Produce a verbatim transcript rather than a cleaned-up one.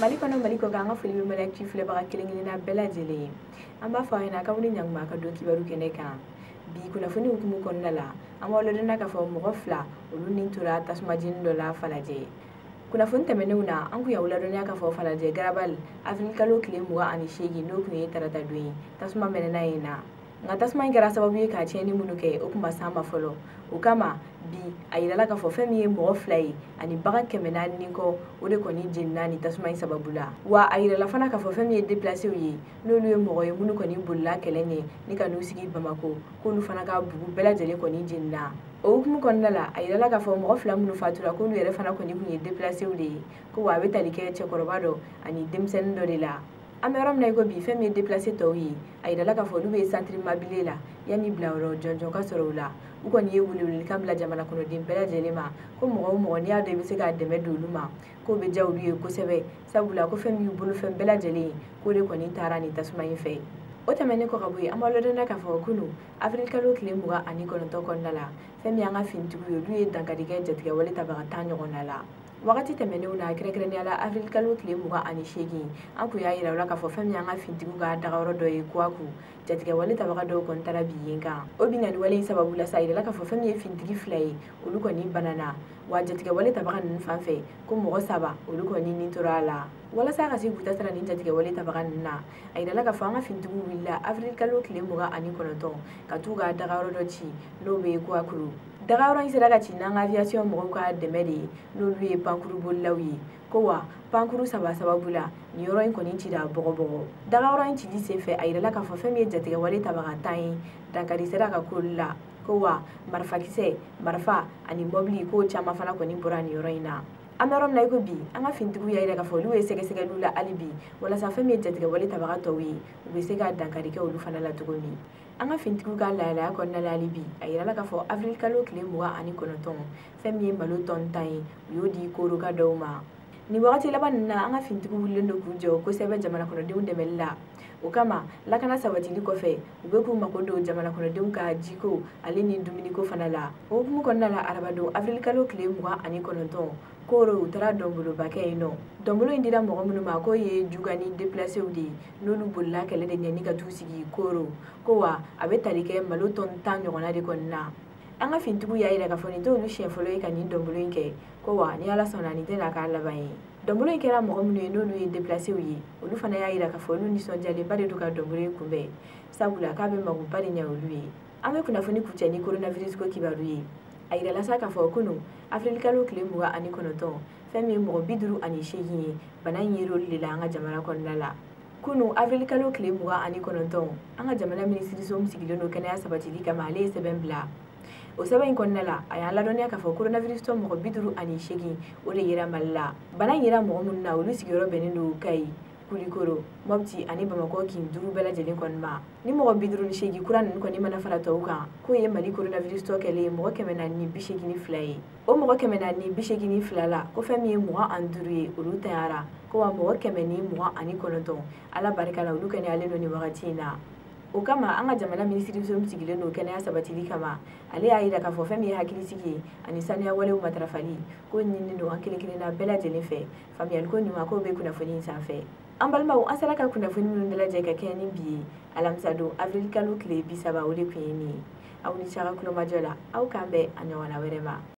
Mali kɔnɔ, Mali kɔ kan, an ka foli bɛ Mali Actu filɛbaga kelen kelenna bɛɛ lajɛlen ye. An b'a fɔ aw ɲɛna k'aw ni ɲankuma ka don kibaru kɛnɛ kan. Bi kunnafoni hukumu kɔnɔna la, an b'aw ladɔnniya k'a fɔ mɔgɔ fila, olu ni tora tasuma jeni dɔ la Falajɛ. Kunnafoni tɛmɛnenw na, an kun y'aw ladɔnniya k'a fɔ Falajɛ Garabali, avril kalo tile mugan ani seegin, n'o kun ye tarata don ye, tasuma mɛnɛna yen na. Nka tasuma in kɛra sababu ye ka tiɲɛni minnu kɛ, o kun ma s'an ma fɔlɔ. O kama bi, a yirala k'a fɔ fɛn min ye mɔgɔ fila ye ani bagan kɛmɛ naani ni kɔ, o de kɔni jenina ni tasuma in sababu la. Wa a yirala fana k'a fɔ fɛn min ye déplacéw ye, n'olu ye mɔgɔ ye minnu kɔni bolila kɛlɛ ɲɛ ni ka n'u sigi Bamako, k'olu fana ka bugu bɛɛ lajɛlen kɔni jenina. O hukumu kɔnɔna la, a yirala k'a fɔ mɔgɔ fila minnu fatura, k'olu yɛrɛ fana kɔni kun ye déplacéw de ye, ko wa a bɛ tali kɛ cɛkɔrɔba dɔ ani denmisɛnnin dɔ de la. An bɛ yɔrɔ min na i ko bi, fɛn min ye déplacé tɔw ye, a yirala k'a fɔ olu bɛ centre Mabile la yanni bilayɔrɔ jɔnjɔn ka sɔrɔ u la. U kɔni ye welewelekan bila jamana kɔnɔden bɛɛ lajɛlen ma ko mɔgɔ o mɔgɔ, n'i y'a dɔn i bɛ se k'a dɛmɛ don olu ma, k'o bɛ diya olu ye kosɛbɛ, sabula ko fɛn min y'u bolofɛn bɛɛ lajɛlen ye, k'o de kɔni taara nin tasuma in fɛ. O tɛmɛnen kɔ ka bɔ yen, an b'aw ladɔnniya k'a fɔ kunun, avril kalo tile mugan ani kɔnɔntɔn kɔnɔna la, fɛn min y'an ka finitigiw ye, olu ye dankari kɛ jatigɛwale tabaga tan ɲɔgɔnna la. Wagati tɛmɛnenw na, kɛrɛnkɛrɛnnenya la avril kalo tile mugan ani seegin, an kun y'a yira u la k'a fɔ fɛn min y'an ka finitigiw ka dagayɔrɔ dɔ ye Kuwaku, jatigɛwale tabaga dɔw kɔni taara bi yen kan. O binkanni wale in sababu la sa, a yirala k'a fɔ fɛn min ye finitigi fila ye, olu kɔni banana. Wa jatigɛwale tabaga ninnu fan fɛ, ko mɔgɔ saba, olu kɔni ni tora a la. Walasa ka se k'u ta sara nin jatigɛwale tabaga ninnu na, a yirala k'a fɔ an ka finitigiw wulila avril kalo tile mugan ani kɔnɔntɔn ka t'u ka dagayɔrɔ dɔ ci, n'o bɛ Kuwakuru. Dagayɔrɔ in sera ka ci n'an ka aviation mɔgɔw ka dɛmɛ de ye, n'olu ye pankuru bolilaw ye. Ko wa pankuru saba sababu la, nin yɔrɔ in kɔni cira bɔgɔbɔgɔ. Dagayɔrɔ in cili senfɛ, a yirala k'a fɔ fɛn min ye jatigɛwale tabaga tan ye, dankari sera ka k'olu la. Ko wa marifakisɛ, marifa ani mɔbili, k'o caman fana kɔni bɔra nin yɔrɔ in na. An bɛ yɔrɔ min na i ko bi, an ka finitigiw y'a yira k'a fɔ olu ye sɛgɛsɛgɛliw la hali bi, walasa fɛn min ye jatigɛwale tabaga tɔw ye, u bɛ se ka dankari kɛ olu fana la cogo min. An ka finitigiw ka lahalaya kɔnɔna la hali bi, a yirala k'a fɔ avril kalo tile mugan ani kɔnɔntɔn, fɛn min ye malo tɔni tan ye, u y'o di koroka dɔw ma. Nin wagati laban ninnu na, an ka finitigiw wulilen don k'u jɔ kosɛbɛ jamana kɔnɔdenw dɛmɛli la. O kama, lakana sabatili kɔfɛ, u bɛ k'u mako don jamana kɔnɔdenw ka jiko ale ni dumuniko fana la. O hukumu kɔnɔna la, arabadon avril kalo tile mugan ani kɔnɔntɔn, koro u taara dɔnboloba kɛ yen nɔ. Dɔnbolo in dira mɔgɔ minnu ma, k'o ye Jugani déplacéw de ye, n'olu bolila kɛlɛ de ɲɛ ni ka t'u sigi Koro. Ko wa a bɛ tali kɛ malo tɔni tan ɲɔgɔnna de kɔni na. An ka finitigiw y'a yira k'a fɔ nin t'olu siɲɛ fɔlɔ ye ka nin dɔnbolo in kɛ, ko wa ni Ala sɔnna, nin tɛna k'a laban ye. Dɔnbolo in kɛra mɔgɔ minnu ye, n'olu ye déplacéw ye, olu fana y'a yira k'a fɔ olu nisɔndiyalenba de don ka dɔnbolo in kunbɛn, sabula k'a bɛ magoba de ɲɛ olu ye. An bɛ kunnafoni kuncɛ ni coronavirus ko kibaru ye. A yirala sa k'a fɔ kunun, avril kalo tile mugan ani kɔnɔntɔn, fɛn min ye mɔgɔ bi duuru ani seegin ye, bana in yer'olu de la an ka jamana kɔnɔna la. Kunun, avril kalo tile mugan ani kɔnɔntɔn, an ka jamana minisiriso min sigilen don kɛnɛya sabatili kama, ale ye sɛbɛn bila. O sɛbɛn in kɔnɔna la, a y'an ladɔnniya k'a fɔ coronavirus tɔ mɔgɔ bi duuru ani seegin, o de yera Mali la. Bana in yera mɔgɔ minnu na, olu sigiyɔrɔ bɛnnen don Kayi, Kulikoro, Mɔpti ani Bamakɔ kin duuru bɛɛ lajɛlen kɔni ma. Ni mɔgɔ bi duuru ni seegin kura ninnu kɔni mana fara tɔw kan, k'o ye Mali coronavirus tɔ kɛlen ye mɔgɔ kɛmɛ naani ni bi seegin ni fila ye. O mɔgɔ kɛmɛ naani ni bi seegin ni fila la, ko fɛn min ye mugan ani duuru ye, olu tanyara. Ko wa mɔgɔ kɛmɛ ni mugan ani kɔnɔntɔn, Ala barika la, olu kɛnɛyalen don nin wagati in na. O kama, an ka jamana minisiriso min sigilen don kɛnɛya sabatili kama, ale y'a yira k'a fɔ fɛn min ye hakilisigi ye ani saniya walew matarafali, k'o ɲininen don an kelen kelenna bɛɛ lajɛlen fɛ. Faamuyaliko ɲuman, k'o bɛ kunnafoni in sanfɛ. An balimaw, an sera ka kunnafoni minnu dalajɛ ka kɛɲɛ ni bi ye, alamisa don, avril kalo tile bi saba, o de tun ye nin ye. Aw ni ce a ka kulomajɔ la. Aw k'an bɛn a ɲɔgɔnna wɛrɛ ma.